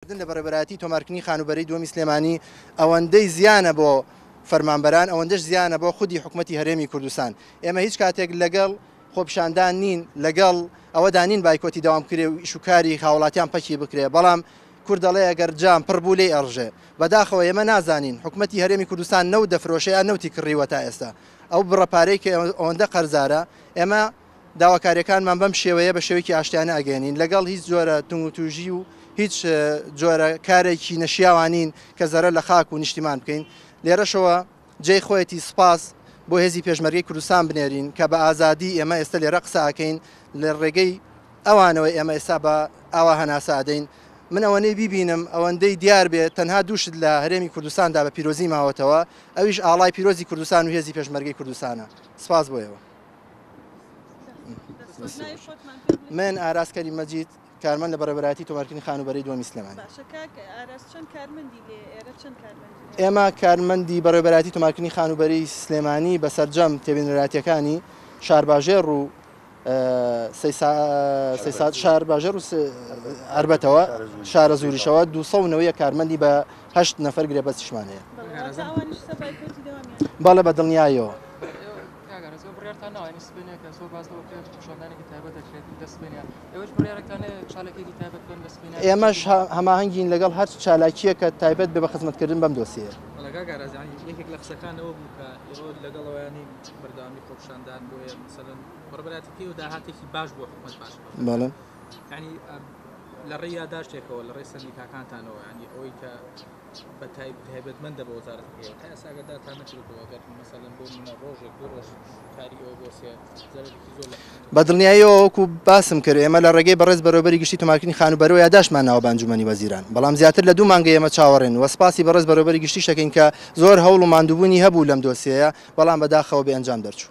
کردن لە بەڕێوەبەرایەتی تۆمارکردنی خانووبەرەی دووەمی سلێمانی ئەوەندەی زیانە بۆ فەرمانبەران ئەوەندەش زیانە بۆ خودی حکومەتی هەرێمی کوردستان. ئێمە هیچ کاتێک لەگەڵ خۆپیشاندان نین، لەگەڵ ئەوەدا نین بایکۆتی دەوام بکرێ و ئیش و کاری هاوڵاتیان پەکی بکرێ، بەڵام کورد دەڵێ ئەگەر جام پڕ بوو لێی ئەڕژێ. بەداخەوە ئێمە نازانین حکومەتی هەرێمی کوردستان نەوت دەفرۆشێ یان نەوتی کڕیوە تا ئێستا ئەو بڕە پارەی کە ئەوەندە قەرزارە ئێمە داواکاریەکانمان بەم شێوەیە بە شێوەیەکی ئاشتیانە ئەگەیەنین، لەگەڵ هیچ جۆرە تونوتوژی و هیچ جۆرە کارێکی نەشیاوا نین کە زەرەر لە خاک و نیشتیمان بکەین. لێرەشەوە جێی خۆیەتی سوپاس بۆ هێزی پێشمەرگەی کوردستان بنێرین کە بە ئازادی ئێمە ئێستا لێرە قسە ئەکەین، لە ڕێگەی ئەوانەوە ئێمە ئێستا بە ئاوا هەناسە ئەدەین. من ئەوەنەی بیبینم ئەوەندەی دیار بێ تەنها دوو شت لە هەرێمی کوردستاندا بە پیرۆزی ماوەتەوە ئەویش ئاڵای پیرۆزی کوردستان و هێزی پێشمەرگەی کوردستانە. سپاس بۆ ئێوە. من ئاراس کەریم مەجید کارمەند لە بەڕێوەبەرایەتی تۆمارکردنی خانووبەرەی دووەمی سلێمانی. باشە کاک ئاراس چەند کارمەندی لێ ئێرە چەند کارمەندی هەیە؟ ئێمە کارمەندی بەڕێوەبەرایەتی تۆمارکردنی خانووبەرەی سلێمانی بە سەرجەم تێبینەرایەتیەکانی شارباژێڕ و شارباژێڕ و عەربەتەوە شارەزووریشەوە 291 کارمەندی بە هەشت نەفەر گرێبەستیشمان هەیە. بەڵێ واتە ئەوانیش سە بایکۆتی دەوامیان؟ بەڵێ بە دڵنیاییەوە. کاک ئاراس ئێوە بڕیارتان ناوە یانی سبەینێ کە زۆر باس لەوە کرێت پیشاندانێکی تایبەت دەکرێت لە سبەینێ ئێوەش بڕیارێکتان هەیە چالاکیەکی تایبەت بکەن لە سبەینێ ئێمەش هەماهەنگین لەگەڵ هەر چالاکییەک کە تایبەت بێ بە خزمەتکردن بەم دۆسیەیە. بەڵێ کاک ئاراس یانی یەکێک لە قسەکان ئەوە بوو کە ئێوە لەگەڵ ئەوەیانی بەردەوامی خۆپیشاندان بۆیە مەسەلەن بەڕێوەبەرایەتیەکەی ئێوە داهاتێکی باش بۆ حکومەت باش بەڵێ یانی لە ڕێی یاداشتێکەوە لە ڕێی سەندیکاکانتانەوە یانی ئەوەی کە بە تایبەتمەندە بە وەزارەتەکەیەوە تا ئێستا ئاگادارتان نەکردووەتەوە ئەگەر مەسەلەن بۆ نمونە ڕۆژێک دوو ڕۆژ کاری ئێوە بوەستێ زەرەرێکی زۆر لە حکومەت بە دڵنیاییەوە وەکو باسم کرد ئێمە لە ڕێگەی بەڕێز بەڕێوەبەری گشتی تۆمارکردنی خانووبەرەوە یاداشتمان ناوە بە ئەنجومەنی وەزیران بەڵام زیاتر لە دوو مانگە ئێمە چاوەڕێن و سپاسی بەڕێز بەڕێوەبەری گشتیش دەکەین کە زۆر هەوڵ و ماندووبوونی هەبوو لەم دۆسیەیە بەڵام بەداخەوە بێ ئەنجام دەرچوو.